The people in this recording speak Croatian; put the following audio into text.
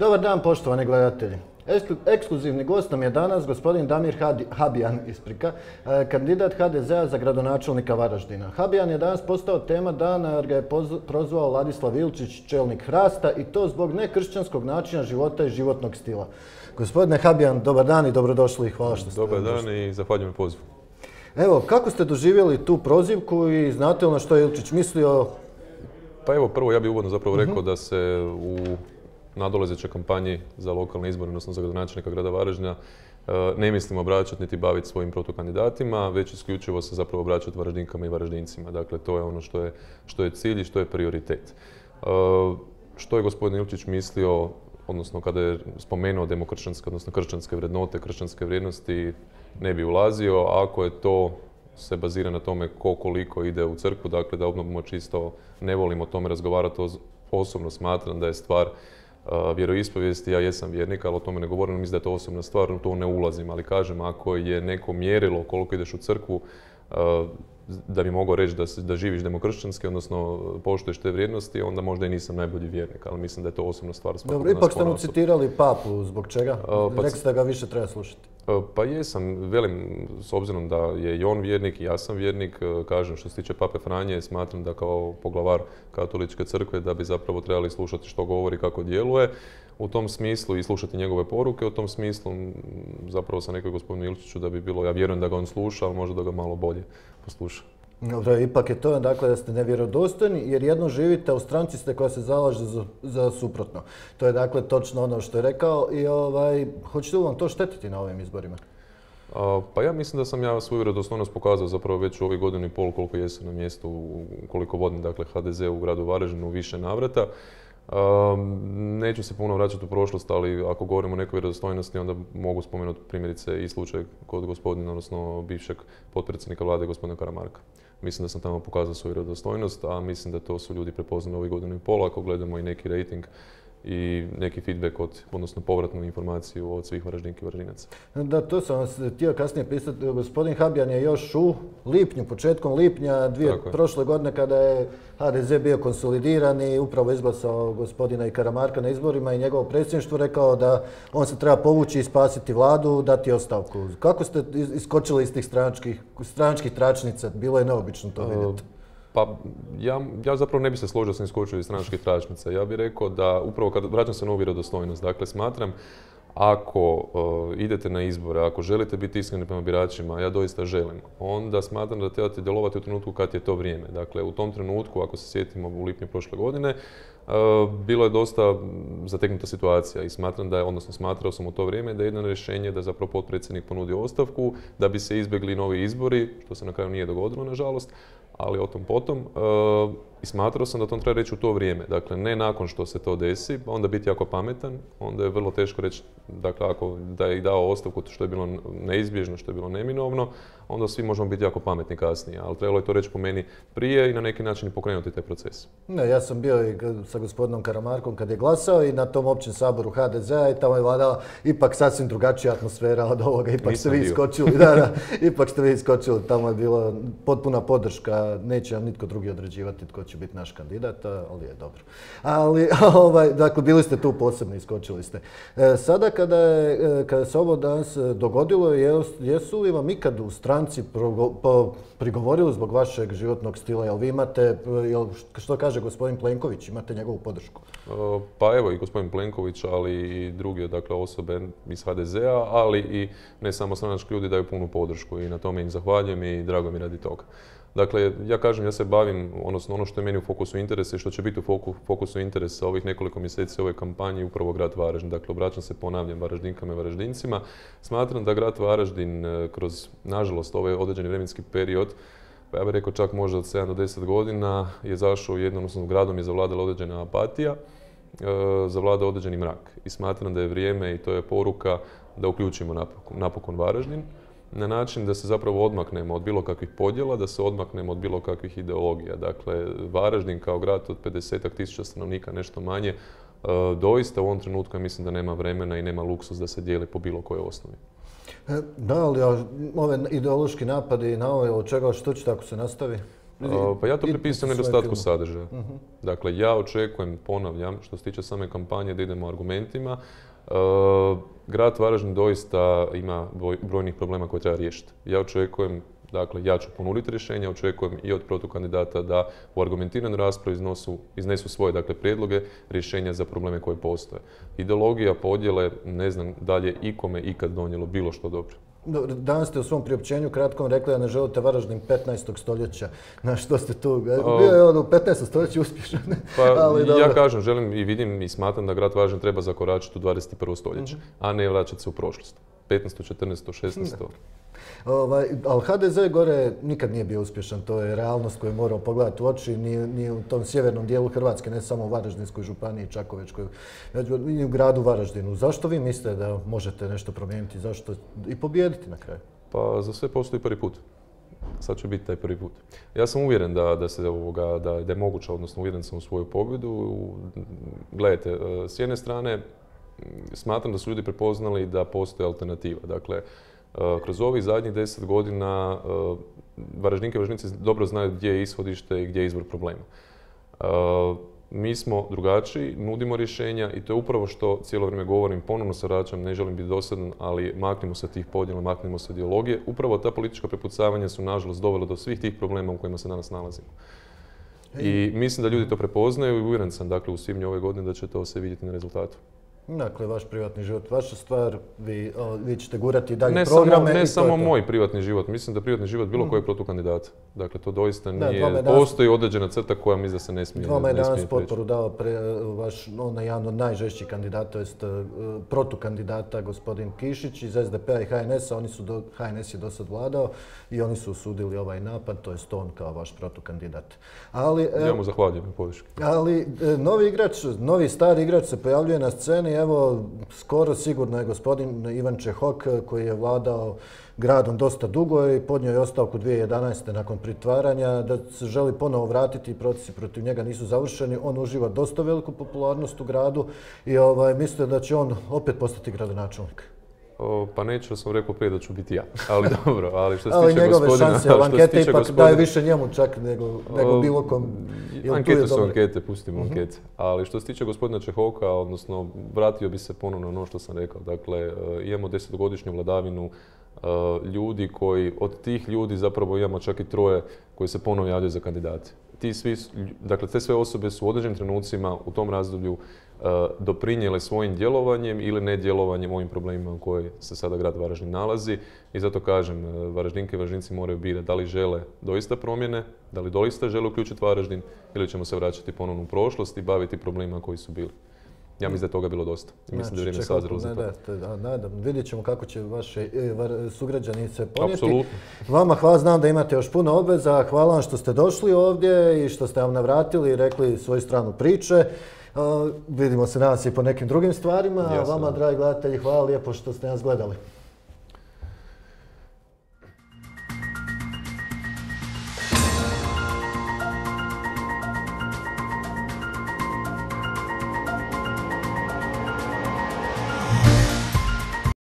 Dobar dan, poštovani gledatelji. Ekskluzivni gost nam je danas gospodin Damir Habijan, kandidat HDZ-a za gradonačelnika Varaždina. Habijan je danas postao tema dana jer ga je prozvao Ladislav Ilčić, čelnik Hrasta, i to zbog nekršćanskog načina života i životnog stila. Gospodine Habijan, dobar dan i dobrodošli i hvala što ste dobar dan i zahvaljujem pozivu. Evo, kako ste doživjeli tu prozivku i znate li na što je Ilčić mislio? Pa evo, prvo ja bih uvodno zapravo rekao da se u nadolazećoj kampanji za lokalne izbore, odnosno za gradonačelnika grada Varaždina, ne mislim obraćati niti baviti svojim protukandidatima, već isključivo se zapravo obraćati Varaždinkama i Varaždincima. Dakle, to je ono što je cilj i što je prioritet. Što je gospodin Ilčić mislio, odnosno kada je spomenuo demokršćanske, odnosno kršćanske vrednote, kršćanske vrijednosti, ne bi ulazio. Ako je to se bazira na tome ko koliko ide u crkvu, dakle da obnovimo čisto, ne volim o tome razgovarati, osobno smatram da je stvar vjeroispovijesti, ja jesam vjernik, ali o tome ne govorim, mislim da je to osobna stvar, u to ne ulazim, ali kažem, ako je neko mjerilo koliko ideš u crkvu, da bi mogao reći da živiš demokršćanski, odnosno poštuješ te vrijednosti, onda možda i nisam najbolji vjernik, ali mislim da je to osobna stvar. Dobro, ipak ste mu citirali papu, zbog čega? Rekli ste da ga više treba slušati. Pa jesam, velim, s obzirom da je i on vjernik i ja sam vjernik, kažem što se tiče pape Franje, smatram da kao poglavar katoličke crkve da bi zapravo trebali slušati što govori, kako djeluje. U tom smislu i slušati njegove poruke, u tom smislu zapravo sam rekao gospodinu Ilčiću da bi bilo, ja vjerujem da ga on sluša, ali možda da ga malo bolje posluša. Dobro, ipak je to dakle da ste nevjerodostojni jer jedno živite, a u stranci ste koja se zalaže za suprotno. To je dakle točno ono što je rekao i hoćete li vam to štetiti na ovim izborima? Pa ja mislim da sam ja svoju vjerodostojnost pokazao zapravo već u ovih godinu i pol koliko jesam na mjestu, koliko vodim dakle HDZ u gradu Varaždinu u više navrata. Neću se puno vraćati u prošlost, ali ako govorimo o nekoj vjerodostojnosti, onda mogu spomenuti primjerice i slučaj kod gospodina, odnosno bivšeg potpredsjednika vlade, gospodina Karamarka. Mislim da sam tamo pokazao svoju vjerodostojnost, a mislim da to su ljudi prepoznali ovih godinu i pol, ako gledamo i neki rating i neki feedback odnosno povratnu informaciju od svih Varaždinki i Varaždinaca. Da, to sam vas htio kasnije pisati. Gospodin Habijan je još u lipnju, početkom lipnja prošle godine kada je HDZ bio konsolidiran i upravo izglasao gospodina i Karamarka na izborima i njegovo predsjedništvo rekao da on se treba povući i spasiti vladu, dati ostavku. Kako ste iskočili iz tih stranačkih tračnica? Bilo je neobično to vidjeti. Pa ja zapravo ne bih se složio da sam iskočio iz stranačkih tračnica. Ja bih rekao da upravo kad vraćam se na ovu vjerodostojnost, dakle smatram ako idete na izbore, ako želite biti iskreni prema biračima, ja doista želim, onda smatram da trebate djelovati u trenutku kad je to vrijeme. Dakle, u tom trenutku, ako se sjetimo u lipnju prošle godine, bilo je dosta zateknuta situacija i smatram da je, odnosno smatrao sam u to vrijeme da je jedno rješenje da zapravo potpredsjednik ponudi ostavku, da bi se izbjegli novi izbori, što se na kraju nije dogodilo, nažalost, ali o tom potom. I smatrao sam da to treba reći u to vrijeme. Dakle, ne nakon što se to desi, onda biti jako pametan, onda je vrlo teško reći, dakle, ako da je dao ostavku što je bilo neizbježno, što je bilo neminovno, onda svi možemo biti jako pametni kasnije. Ali trebalo je to reći po meni prije i na neki način i pokrenuti taj proces. Ne, ja sam bio i sa gospodinom Karamarkom kad je glasao i na tom općem saboru HDZ-a i tamo je vladala ipak sasvim drugačija atmosfera od ovoga. Ipak ste vi iskočili, ipak ste vi iskočili, tamo je bila potpuna podrška, neće vam nitko drugi određivati tko će biti naš kandidat, ali je dobro. Ali, dakle, bili ste tu posebno, iskočili ste. Sada kada se ovo danas dogodilo, jesu li vam ikad u stranci prigovorili zbog vašeg životnog stila? Jel vi imate, što kaže gospodin Plenković, imate njegovu podršku? Pa evo i gospodin Plenković, ali i druge dakle, osobe iz HDZ-a, ali i ne samo stranački ljudi daju punu podršku i na tome im zahvaljujem i drago mi radi toga. Dakle, ja kažem, ja se bavim, odnosno ono što je meni u fokusu interesa i što će biti u fokusu interesa ovih nekoliko mjeseci ove kampanje, upravo grad Varaždin. Dakle, obraćam se, ponavljam, Varaždinkama i Varaždincima. Smatram da grad Varaždin kroz, nažalost, ovaj određeni vremenski period, pa ja bih rekao čak možda od 7 do 10 godina, je zašao odnosno gradom je zavladala određena apatija, zavlada određeni mrak. I smatram da je vrijeme i to je poruka da uključimo napokon Varaždin na način da se zapravo odmaknemo od bilo kakvih podjela, da se odmaknemo od bilo kakvih ideologija. Dakle, Varaždin kao grad od 50-ak tisuća stanovnika, nešto manje, doista u ovom trenutku ja mislim da nema vremena i nema luksuz da se dijeli po bilo kojoj osnovi. Da, ali ove ideološki napadi na ovo, od čega, što ćete ako se nastavi? Pa ja to pripisujem nedostatku sadržaja. Dakle, ja očekujem, ponavljam, što se tiče same kampanje, da idemo argumentima. Grad Varaždin doista ima brojnih problema koje treba riješiti. Ja očekujem, dakle, ja ću ponuditi rješenja, očekujem i od protokandidata da u argumentiranoj raspravi iznesu svoje, dakle, prijedloge, rješenja za probleme koje postoje. Ideologija, podjele, ne znam da li je ikome ikad donijelo bilo što dobro. Danas ste u svom priopćenju kratkom rekli da ne želite Varaždin 15. stoljeća. Na što ste tu? Bio je on u 15. stoljeću uspješan. Pa ja kažem, želim i vidim i smatram da grad Varaždin treba zakoračiti u 21. stoljeće, a ne vraćati se u prošlost. 15., 14., 16. Ali HDZ gore nikad nije bio uspješan, to je realnost koju moramo pogledati u oči, ni u tom sjevernom dijelu Hrvatske, ne samo u Varaždinskoj županiji, Čakovečkoj, i u gradu Varaždinu. Zašto vi mislite da možete nešto promijeniti, zašto i pobijediti na kraju? Pa za sve postoji prvi put. Sad će biti taj prvi put. Ja sam uvjeren da je moguće, odnosno uvjeren sam u svoju pobjedu. Gledajte, s jedne strane smatram da su ljudi prepoznali da postoji alternativa. Dakle, kroz ovih zadnjih 10 godina Varaždinke i Varaždinci dobro znaju gdje je ishodište i gdje je izvor problema. Mi smo drugačiji, nudimo rješenja i to je upravo što cijelo vrijeme govorim, ponovno se vraćam, ne želim biti dosadan, ali maknimo se tih podjela, maknimo se ideologije. Upravo ta politička prepucavanja su nažalost dovela do svih tih problema u kojima se danas nalazimo. I mislim da ljudi to prepoznaju i uvjeren sam, dakle, u svibnju ove godine da će to se vidjeti na rezultatu. Dakle, vaš privatni život, vaša stvar, vi ćete gurati dalje programe. Ne samo moj privatni život, mislim da privatni život bilo kojeg protukandidata. Dakle, to doista nije, postoji određena crta koja mislim da se ne smije preći. Vama je danas potporu dao vaš jedan od najžešćih kandidata, to jest protukandidata, gospodin Kišić iz SDP-a i HNS-a. HNS je do sad vladao i oni su osudili ovaj napad, to jest on kao vaš protukandidat. Ja mu zahvaljujem na podrški. Ali novi stari igrač se pojavljuje na sceni. Evo, skoro sigurno je gospodin Ivan Čehok, koji je vladao gradom dosta dugo i podnio je ostavku 2011. nakon pritvaranja, da se želi ponovo vratiti i procesi protiv njega nisu završeni. On uživa dosta veliku popularnost u gradu i mislite da će on opet postati gradonačelnik. Pa neću, sam rekao prije da ću biti ja. Ali dobro, ali što se tiče gospodina... Ali njegove šanse, ankete ipak daje više njemu čak nego bilo kom. Ankete su ankete, pustimo ankete. Ali što se tiče gospodina Čehoka, odnosno vratio bi se ponovno na ono što sam rekao. Dakle, imamo 10-godišnju vladavinu ljudi koji, od tih ljudi zapravo imamo čak i 3 koji se ponovno javljaju za kandidate. Dakle, te sve osobe su u određenim trenucima u tom razdoblju doprinijele svojim djelovanjem ili nedjelovanjem ovim problemima u kojoj se sada grad Varaždin nalazi. I zato kažem, Varaždinke i Varaždinci moraju birati da li žele doista promjene, da li doista žele uključiti Varaždin ili ćemo se vraćati ponovno u prošlost i baviti problemima koji su bili. Ja mislim da je toga bilo dosta. I mislim da je vrijeme sazrelo za to. Vidjet ćemo kako će vaše sugrađani se ponijeti. Apsolutno. Vama hvala, znam da imate još puno obveza. Hvala vam što ste došli ovdje i što ste vam navratili i rekli svoju stranu priče. Vidimo se danas i po nekim drugim stvarima. Vama, dragi gledatelji, hvala lijepo što ste nas gledali.